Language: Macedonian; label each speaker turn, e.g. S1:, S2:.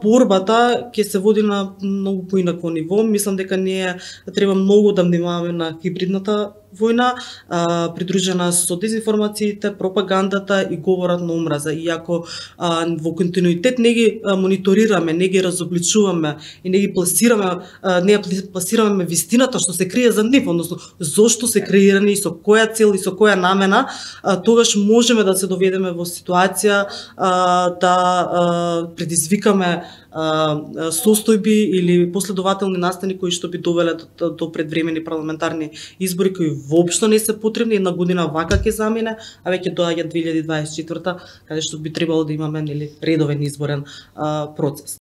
S1: борбата ќе се води на многу поинако ниво. Мислам дека ние треба многу да внимаваме на хибридната војна, придружена со дезинформациите, пропагандата и говорат на омраза. И ако во континуитет не ги мониторираме, не ги разобличуваме и не ги пласираме, не ја пласираме вистината што се крие за нив, односно зошто се креирани, со која цел и со која намена, тогаш можеме да се доведеме во ситуација да предизвикаме состојби или последователни настани кои што би довеле до предвремени парламентарни избори кои воопшто не се потребни. Една година вака ќе замине, а веќе доаѓа 2024 каде што би требало да имаме редовен изборен процес.